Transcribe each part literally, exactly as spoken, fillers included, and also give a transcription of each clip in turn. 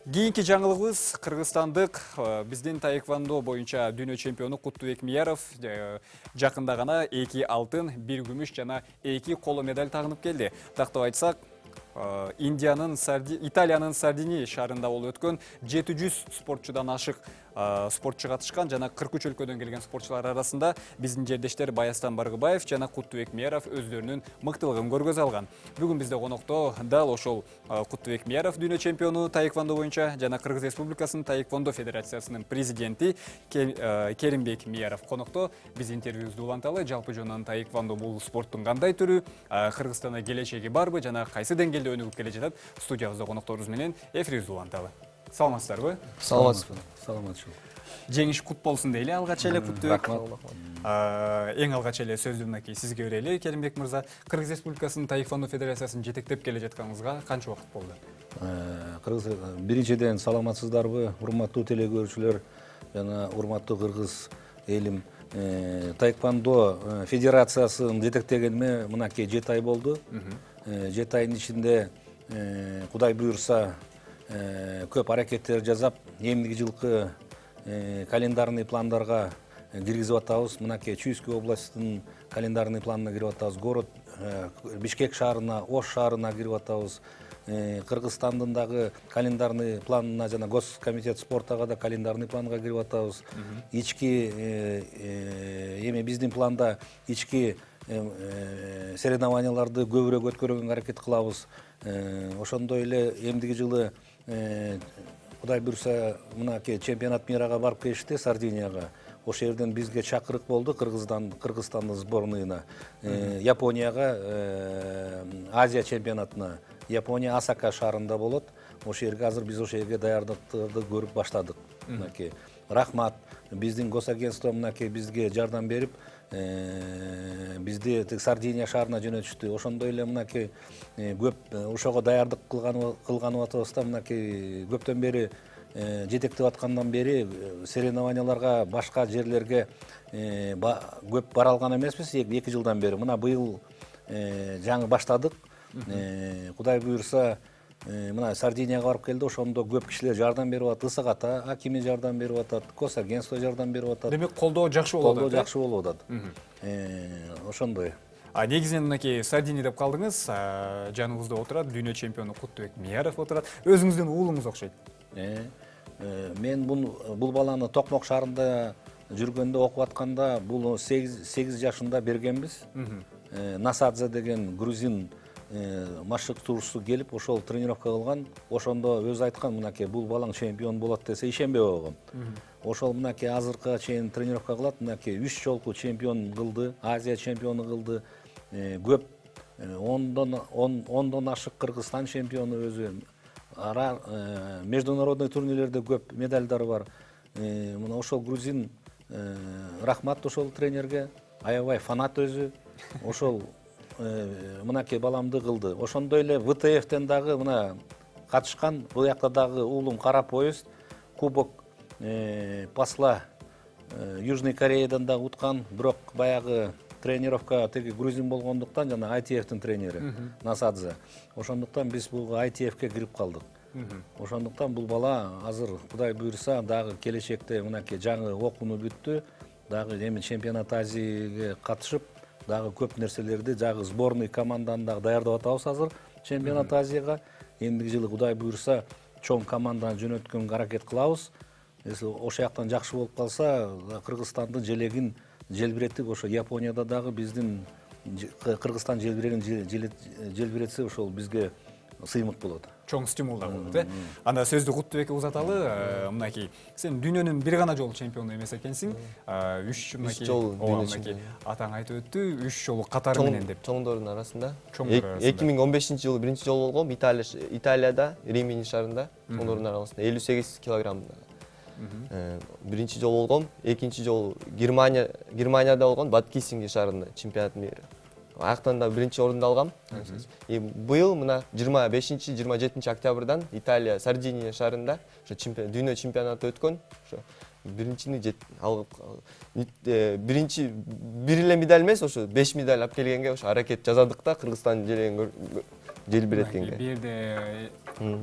Кийинки жаңылыгыбыз кыргызстандык биздин таэквондо боюнча дүйнө чемпиону Куттубек Мияров жакында гана эки алтын, бир күмүш жана эки коло медаль тагынып келди. Тактап айтсак, Индиянын Италиянын Сардини шаарында болуп өткөн жети жүз спортчудан ашык спортчу катышкан жана кырк үч өлкөдөн келген спортчулар арасында биздин жердештер Баястан Баргыбаев жана Куттубек Мияров өздөрүнүн мыктылыгын көргөзө алган. Бүгүн бизде конокто дал ошол Куттубек Мияров дүйнө чемпиону таэквондо боюнча жана Кыргыз Республикасынын таэквондо федерациясынын президенти Керимбек Мияров конокто. Биз интервьюбузду уланталы. Жалпы жонунан таэквондо бул спорттун кандай түрү, Кыргызстанда келечеги барбы жана кайсы деңгээлде өнүгүп келе жатат? Студиябызда конокторубуз менен эфирибизди уланталы. Саламатсыздарбы? Саламатсызбы. Саламатчыл. Жеңиш кут болсун дейли алгач эле Куттубек. Эң алгач эле сөздү мынакей сизге берели, Керимбек мырза. Кыргыз Республикасынын таэквондо федерациясын жетектеп келе жатканыңызга канча убакыт болду? Кыргыз биринчиден саламатсыздарбы, урматтуу телекөрүүчүлөр жана урматтуу кыргыз элим. Таэквондо федерациясын жетектегениме мынакей жети ай болду. жети айдын ичинде Кудай буйрса көп аракеттер жасап, эмдиги жылкы календарный пландарга киргизип атабыз. Мынакей Чуйский областтын календарный планына кирип атабыз. Город Бишкек шаарына, Ош шаарына кирип атабыз. Кыргызстандын дагы календарный планына жана Госкомитет спортага да календарный планга кирип атабыз. Ички эми биздин планда ички соревнованияларды көбүрөөк өткөрүүгө аракет кылабыз. Ошондой эле эмдиги жылы Кудай буйрса мынакей чемпионат мирага барып келишти, Сардинияга. Ошол жерден бизге чакырык болду Кыргызстан Кыргызстандын сборныйына. Японияга Азия чемпионатына. Япония Осака шаарында болот. Ошол жерге азыр биз ошол жерге даярдыктарды көрүп баштадык. Мынакей рахмат, биздин госагентство мынакей бизге жардам берип, бизди Сардиния шаарына жөнөтүштү. Ошондой эле мынакей көп ошого даярдык кылганып атабыз да, мынакей көптөн бери жетектеп аткандан бери соревнованияларга башка жерлерге көп бара алган эмеспиз эки жылдан бери. Мына быйыл жаңы баштадык. Кудай буйрса мына Сардинияга барып келди, ошондо көп кишилер жардам берип атат, Ысык-Ата акими жардам берип атат, госагентство жардам берип атат. Демек колдоо жакшы болуп атат. Колдоо жакшы болуп атат. Ошондой. А негизинен мынакей Сардини деп калдыңыз, жаныңызда отурат дүйнө чемпиону Куттубек Мияров отурат. Өзүңүздүн уулуңуз окшойт. Мен бул баланы Токмок шаарында жүргөндө окуп атканда, бул сегиз жашында бергенбиз. Насадзе деген грузин машыктуучусу келип, ошол тренировка кылган. Ошондо өзү айткан, мынакей бул балаң чемпион болот десе ишенбей койгом. Ошол мынакей азыркыга чейин тренировка кылат, мынакей үч жолку чемпион кылды, Азия чемпиону кылды. Көп ондон ондон ашык Кыргызстан чемпиону өзү. Ара международный турнирлерде көп медальдары бар. Мына ошол грузин рахмат ошол тренерге, аябай фанат өзү. Ошол мынакей баламды кылды. Ошондой эле вэ тэ эфтен дагы мына катышкан, бул жакта дагы уулум кара поезд, кубок посла Южный Кореядан да уткан, бирок баягы тренировка теги грузин болгондуктан жана ай ти эфтин тренери Насадзе. Ошондуктан биз бул ай ти эфке кирип калдык. Ошондуктан бул бала азыр Кудай буйрса дагы келечекте мынакей жаңы окууну бүттү, дагы эми чемпионат Азияга катышып, дагы көп нерселерди дагы сборный команданы дагы даярдап атабыз азыр чемпионат Азияга. Эмдиги жылы Кудай буйрса чоң команданы жөнөткөнгө аракет кылабыз. Ошол жактан жакшы болуп калса, Кыргызстандын желегин желбиретип, ошо Японияда дагы биздин Кыргызстан желбирегин желбиретсе, ошол бизге сыймык болот. Чоң стимул да болот, э? Анда сөздү Куттубекке узаталы. Мынакей сен дүйнөнүн бир гана жолу чемпиону эмес экенсиң. үч мынакей мынакей атаң айтып өттү, үч жолу катары менен деп. Чоңдордун арасында. эки миң он бешинчи жылы биринчи жолу болгом Италияда, Римини шаарында, чоңдордун арасында элүү сегиз килограммда. Биринчи жолу болгом, экинчи жолу Германия Германияда болгон Бадкисинги шаарында чемпионат мира. Аяктан да биринчи орунду алгам. И быйыл мына жыйырма бешинчи жыйырма жетинчи октябрдан Италия Сардиния шаарында ошо дүйнө чемпионаты өткөн. Ошо биринчини алып биринчи бир эле медаль эмес, ошо беш медаль алып келгенге ошо аракет жасадык да, Кыргызстан желегин желбирет экенге. Бир жерде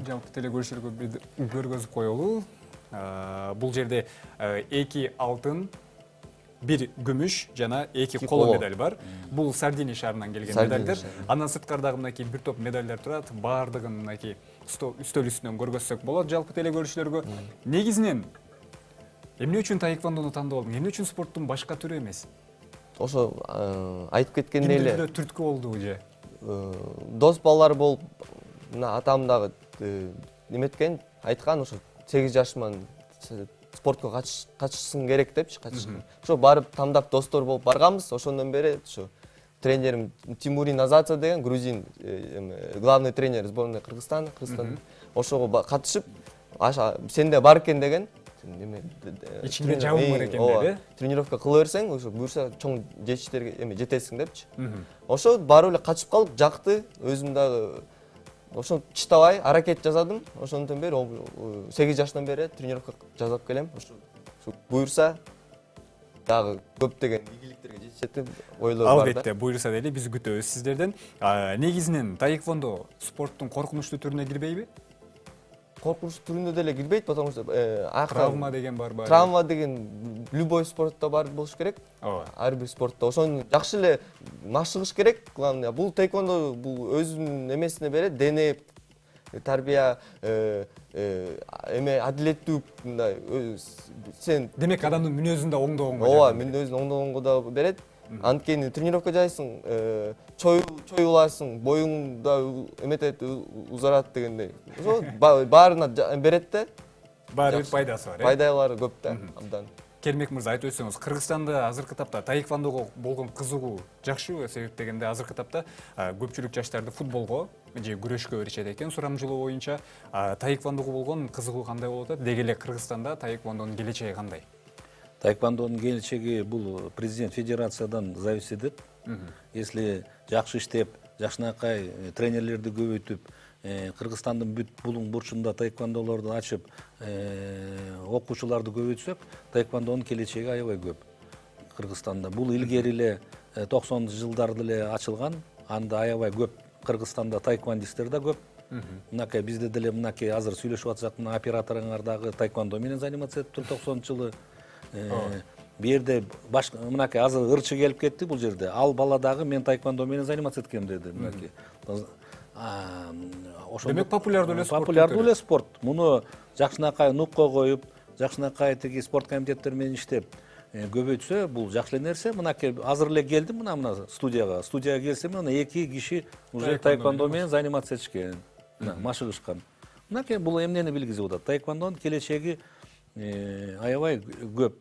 жалпы телекөрүүчүлөргө көргөзүп коелу. Бул жерде эки алтын, бир күмүш жана эки коло медаль бар. Бул Сардиния шаарынан келген медальдер. Андан сырткардагы мынакей бир топ медальдер турат. Баардыгын мынакей үстөл үстүнөн көргөзсөк болот жалпы телекөрүүчүлөргө. Негизинен эмне үчүн таэквондону тандап алдың? Эмне үчүн спорттун башка түрү эмес? Ошо айтып кеткендей эле. Кимдир түрткү болду же? Дос балдар болуп, мына атам дагы неметкен, айткан ошо сегиз жашыман спортко катышсың керек депчи, катышкан. Ошо барып тандап достор болуп барганбыз. Ошондон бери ошо тренерим Тимурин Азаца деген грузин, главный тренер сборной Кыргызстана, Кыргызстан. Ошого катышып, сенде бар экен деген. Ичинде жабым бар экен деди. Тренировка кыла берсең, ошо буюрса чоң жетиштерге эме жетесиң депчи. Ошо барып эле катышып калып, жакты. Өзүм дагы ошо чыдабай аракет жасадым. Ошондон бери сегиз жаштан бери тренировка жасап келем. Ошо буюрса дагы көптөгөн ийгиликтерге жетишет деп ойлор бар да. Албетте, буюрса дейли, биз күтөбүз сиздерден. Негизинен таэквондо спорттун коркунучтуу түрүнө кирбейби? Коркунучтуу түрүнө деле кирбейт, потому что травма деген барбы? Травма деген любой спортто бар болуш керек. Ар бир спортто. Ошону жакшы эле машыгыш керек. Главное, бул таэквондо бул өзүнүн эмесине берет, дене тарбия, эме адилеттүү мындай сен демек адамдын мүнөзүн да оңдогонго. Ооба, мүнөзүн оңдогонго да берет. Анткени тренировка жасайсың, чоюласың, боюң да эметет, узарат дегендей. Ошо баарына берет да. Баары бир пайдасы бар, э? Пайдалары көп да, абдан. Кермек мырза, айтып өтсөңүз, Кыргызстанда азыркы тапта таэквондого болгон кызыгуу жакшыбы? Себеп дегенде азыркы тапта көпчүлүк жаштарды футболго же күрөшкө беришет экен. Сурамжылоо боюнча таэквондого болгон кызыгуу кандай болуп атат? Деги эле Кыргызстанда таэквондонун келечеги кандай? Таэквондонун келечеги бул президент федерациядан зависит этет. Если жакшы иштеп, жакшынакай тренерлерди көбөйтүп, Кыргызстандын бүт булуң бурчунда таэквондолорду ачып, окуучуларды көбөйтсөк, таэквондонун келечеги аябай көп Кыргызстанда. Бул илгери эле токсонунчу жылдарда эле ачылган. Анда аябай көп Кыргызстанда таэквондисттер да көп. Мынакей бизде деле мынакей азыр сүйлөшүп атсак, мына операторуңар дагы таэквондо менен заниматься этиптир токсонунчу жылы. Бу жерде мынакей азыр ырчы келип кетти бул жерде. Ал бала дагы мен таэквондо менен заниматься эткем деди. Мынакей. Демек популярдуу эле спорт. Популярдуу эле спорт. Муну жакшынакай нукко коюп, жакшынакай тиги спорт комитеттер менен иштеп көбөйтсө, бул жакшы эле нерсе. Мынакей азыр эле келдим мына мына студияга. Студияга келсем, мына эки киши уже таэквондо менен занимация этишкен, машыгышкан. Мынакей бул эмнени билгизип атат? Таэквондонун келечеги аябай көп.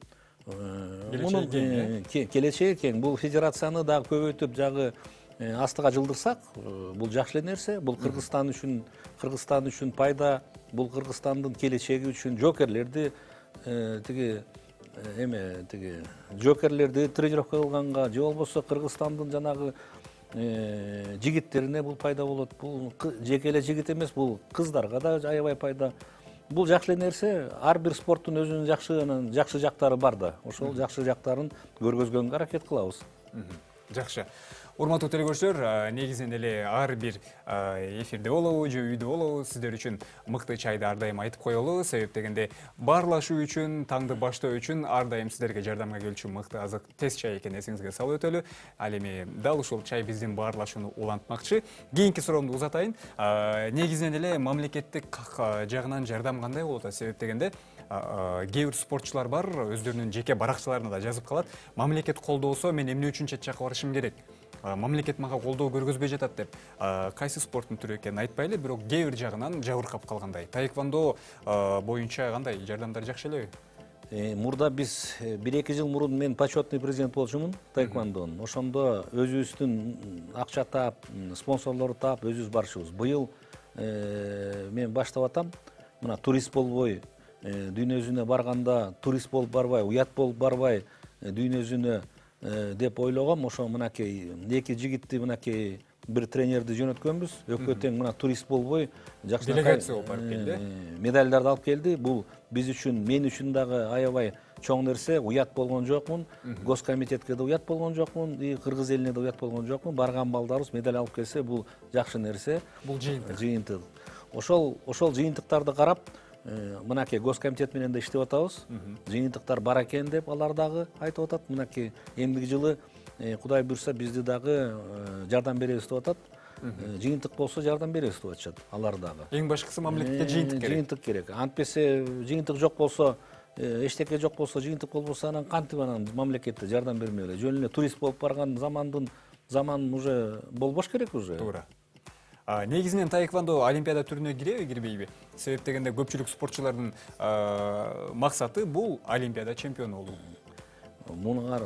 Мунун келечеги кең. Бул федерацияны дагы көбөйтүп, жагы астыга жылдырсак, бул жакшы эле нерсе. Бул Кыргызстан үчүн, Кыргызстан үчүн пайда, бул Кыргызстандын келечеги үчүн жокерлерди тиги эме тиги жокерлерди тренировка кылганга, же болбосо Кыргызстандын жанагы жигиттерине бул пайда болот. Бул жеке эле жигит эмес, бул кыздарга да аябай пайда. Бул жакшы эле нерсе. Ар бир спорттун өзүнүн жакшы жакшы жактары бар да. Ошол жакшы жактарын көргөзгөнгө аракет кылабыз. Жакшы. Урматтуу телекөрүүчүлөр, негизинен эле ар бир эфирде болобу же үйдө болобу сиздер үчүн мыкты чайды ар дайым айтып коелу. Себеп дегенде баарлашуу үчүн, таңды баштоо үчүн ар дайым сиздерге жардамга келүүчү мыкты азык тез чай экенин эсиңизге салып өтөлү. Ал эми дал ушул чай биздин баарлашууну улантмакчы. Кийинки суроомду узатайын. Негизинен эле мамлекеттик жагынан жардам кандай болот? Себеп дегенде кээ бир спортчулар бар, өздөрүнүн жеке баракчаларына да жазып калат. Мамлекет колдоосо мен эмне үчүн чет жакка барышым керек? Мамлекет мага колдоо көргөзбөй жатат деп. Кайсы спорттун түрү экенин айтпайлы, бирок кээ бир жагынан жабыркап калгандай. Таэквондо боюнча кандай жардамдар жакшы элеби? Мурда биз бир эки жыл мурун мен почетный президент болчумун таэквондонун. Ошондо өзүбүздүн акча таап, спонсорлорду таап өзүбүз барышыбыз. Быйыл мен баштап атам. Мына турист болбой, дүйнө жүзүнө барганда турист болуп барбай, уят болуп барбай, дүйнө жүзүнө деп ойлогом. Ошо мынакей эки жигитти мынакей бир тренерди жөнөткөнбүз. Өкө тең мына турист болбой, жакшы делегация болуп барып келди. Медальдарды алып келди. Бул биз үчүн, мен үчүн дагы аябай чоң нерсе, уят болгон жокмун, госкомитетке да уят болгон жокмун, и кыргыз элине да уят болгон жокмун. Барган балдарыбыз медаль алып келсе, бул жакшы нерсе. Бул жыйынтык. Жыйынтык. Ошол ошол жыйынтыктарды карап, мынакей госкомитет менен да иштеп атабыз. Жыйынтыктар бар экен деп алар дагы айтып атат. Мынакей эмдиги жылы Кудай буйрса бизди дагы жардам беребиз деп атат. Жыйынтык болсо жардам беребиз деп атышат алар дагы. Эң башкысы мамлекетте жыйынтык керек. Жыйынтык керек. Антпесе жыйынтык жок болсо, эчтеке жок болсо, жыйынтык болбосо анан кантип анан мамлекетте жардам бермей эле? Жөн эле турист болуп барган замандын заман уже болбош керек уже. Туура. Негизинен таэквондо олимпиада түрүнө киреби, кирбейби? Себеп дегенде көпчүлүк спортчулардын максаты бул олимпиада чемпиону болуу. Мунуңар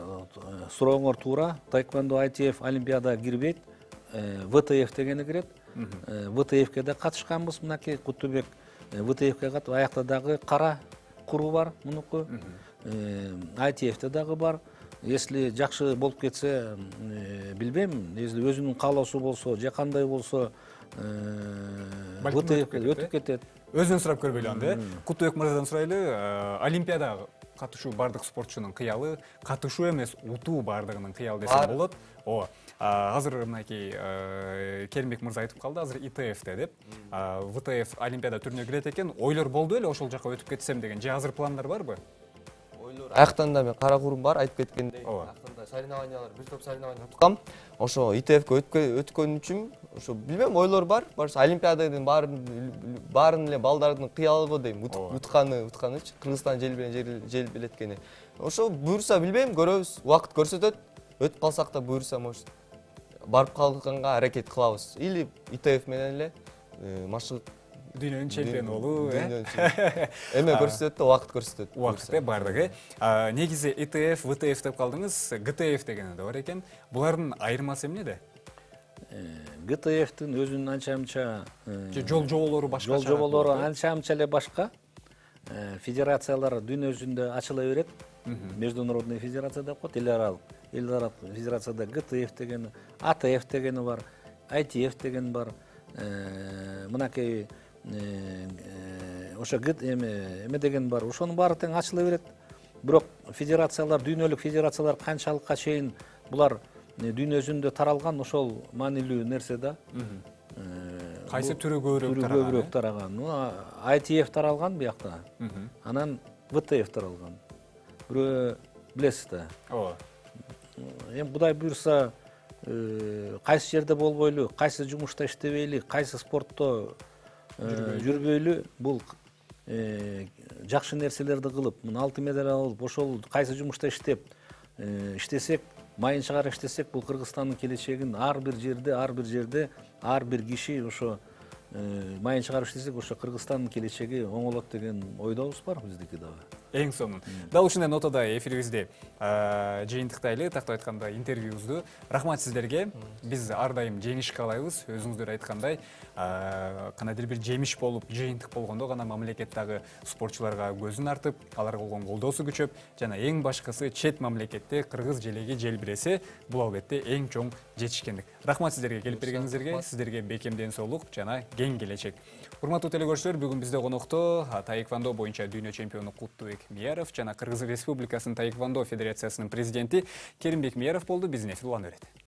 сурооңор туура. Таэквондо ай ти эф олимпиада кирбейт. вэ тэ эф дегени кирет. вэ тэ эфке да катышканбыз. Мынакей Кутубек вэ тэ эфке катып, аякта дагы кара куру бар мунуку. ай ти эфте дагы бар. Если жакшы болуп кетсе, билбейм, если өзүнүн каалоосу болсо, же кандай болсо, вэ тэ эфке өтүп кетет. Өзүнөн сурап көрбөйлү анда. Кутубек мырзадан сурайлы. Олимпиадага катышуу бардык спортчунун кыялы, катышуу эмес, утуу бардыгынын кыялы десем болот. Ооба. Азыр мынакей Керимбек мырза айтып калды, азыр и тэ эфте деп. вэ тэ эф олимпиада түрүнө кирет экен. Ойлор болду эле ошол жака өтүп кетсем деген. Же азыр пландар барбы? Ойлор. Аяктан да мен кара курум бар, айтып кеткендей. Аяктан соревнованиялар, бир топ соревнования уткам. Ошо и тэ эфке өткөн үчүн, ошо билбем, ойлор бар. Барса олимпиададын баарын баарын эле балдардын кыялы дейм, утканы, утканычы, Кыргызстан жел менен жел билеткени. Ошо буйрса билбейм, көрөбүз, убакыт көрсөтөт. Өтүп калсак да буйрса, может, барып калганга аракет кылабыз. Или и тэ эф менен эле машык дүйнөнүн чемпиону болуу, э? Эме көрсөтөт да, убакыт көрсөтөт. Убакытта бардыгы. Негизи и тэ эф, вэ тэ эф деп калдыңыз, гэ тэ эф дегени да бар экен. Булардын айырмасы эмнеде? гэ тэ эфтин өзүнүн анча-мынча жол жоболору башка. Жол жоболору анча-мынча эле башка. Федерациялар дүйнө жүзүндө ачыла берет. Международный федерация деп коет, эл аралык. Эл аралык федерацияда гэ тэ эф дегени, а тэ эф дегени бар, ай ти эф деген бар. Мынакей ошо эме деген бар. Ошонун баары тең ачыла берет. Бирок федерациялар, дүйнөлүк федерациялар канчалыкка чейин булар дүйнө жүзүндө таралган, ошол маанилүү нерсе да. Кайсы түрү көбүрөөк тараган? Көбүрөөк тараган. ай ти эф таралган биякта. Анан вэ тэ эф таралган. Бирөө билесиз да. Ооба. Эми Кудай буйрса, кайсы жерде болбойлу, кайсы жумушта иштебейли, кайсы спортто жүрбөйлү, бул жакшы нерселерди кылып, мына алтын медаль алып, ошол кайсы жумушта иштеп, иштесек, майын чыгарып иштесек, бул Кыргызстандын келечегин ар бир жерде, ар бир жерде, ар бир киши ошо майын чыгарып иштесек, ошо Кыргызстандын келечеги оңолот деген ойдобуз бар биздики дагы. Эң сонун. Дал ушундай нотада эфирибизди жыйынтыктайлы, тактап айтканда интервьюбузду. Рахмат сиздерге. Биз ар дайым жеңиш каалайбыз. Өзүңүздөр айткандай, кандайдыр бир жемиш болуп, жыйынтык болгондо гана мамлекет дагы спортчуларга көзүн артып, аларга болгон колдоосу күчөп, жана эң башкысы чет мамлекетте кыргыз желеги желбиресе, бул албетте эң чоң жетишкендик. Рахмат сиздерге келип бергениңиздерге, сиздерге бекем ден соолук жана кең келечек. Урматтуу телекөрүүчүлөр, бүгүн бизде конокто таэквондо боюнча дүйнө чемпиону Кутубек Мияров жана Кыргыз Республикасынын таэквондо федерациясынын президенти Керимбек Мияров болду. Биздин эфир улана берет.